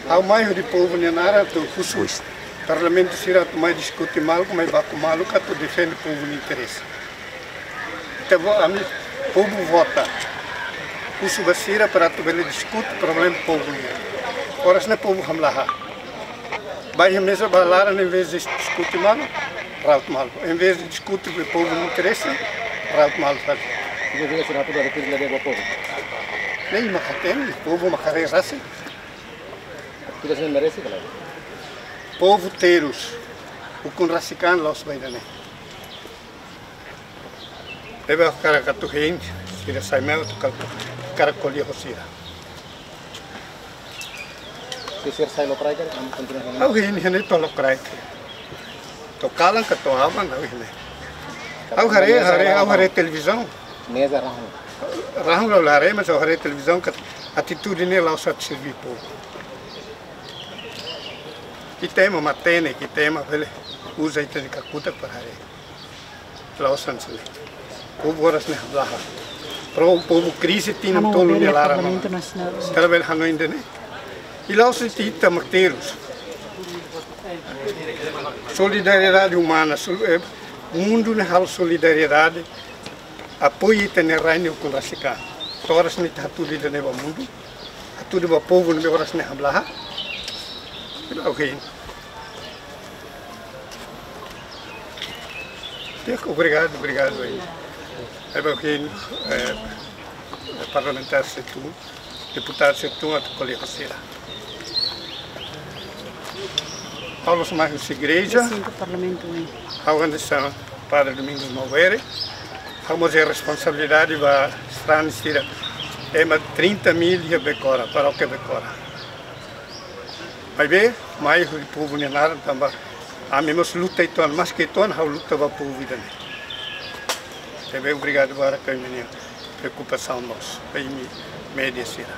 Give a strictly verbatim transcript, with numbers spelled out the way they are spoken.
Ha'u mai hodi povu nia naran atu husu Parlamentu sira atu mai diskute malu, mai baku malu, atu defende povu nia interese. Ita-boot, ami povu vota. Husu ba sira para atu bele diskute problema povu nian. Oras ne'e povu hamlaha. Ba iha meza ba laran, em vez de diskute malu, rauta malu. Em vez de diskute ba povu nia interese, rauta malu fali. Ida-ne'e sira atu bele pili ba povu. Ne'e mak hatene, povu mak haree rasik. Ida-ne'e merese ka lae? Povu terus, ukun rasik an la'ós ba ida-ne'e. Ne'ebé ha'u hakarak atu hein sira sai mai, ha'u hakarak ko'alia ho sira. Se sira sai lokraik, ami kontinua hein. Ha'u hein, hein to'o lokraik. To'o kalan ka to'o aban, ha'u hein. Ha'u haree, haree, ha'u haree televizaun. Meza rahun. Rahun ha'u la haree, mas ha'u haree televizaun katak atitude ne'e la'ós atu serve povu. Ita ema matenek, ita ema bele uza ita-nia kakutak para haree. La'ós hanesan ne'e. Povu oras ne'e hamlaha. Pro, povu krize tinan tolu nia laran. Parlamentu Nasionál. Ita labele hanoin ida-ne'e. I la'ós ita, ita mak terus. Solidariedade umana, sol-, eh, mundu ne'e halo solidariedade. Apoiu ita-nia rai ne'e ukun rasik an. To'o oras ne'e ita hatudu ida-ne'e ba mundu. Hatudu ba povu ne'ebé oras ne'e hamlaha. Ha'u hein. Di'ak, obrigadu, obrigadu. Ha'u hein, eh, parlamentár sira tun, deputadu sira tun atu ko'alia ho sira. Ha'u la'ós mai husi igreja. Resintu parlamentu, hein. Ha'u hanesan Padre Domingos Maubere. Ha'u mós iha responsabilidade ba sarani sira. Ema trinta mil iha Becora, parókia Becora. Maibé, mai hodi povu nia naran tanba ami mós luta uitoan, maske uitoan ha'u luta ba povu ida-ne'e. Ne'ebé obrigadu barak ba imi-nia preokupasaun mós, ba imi média sira.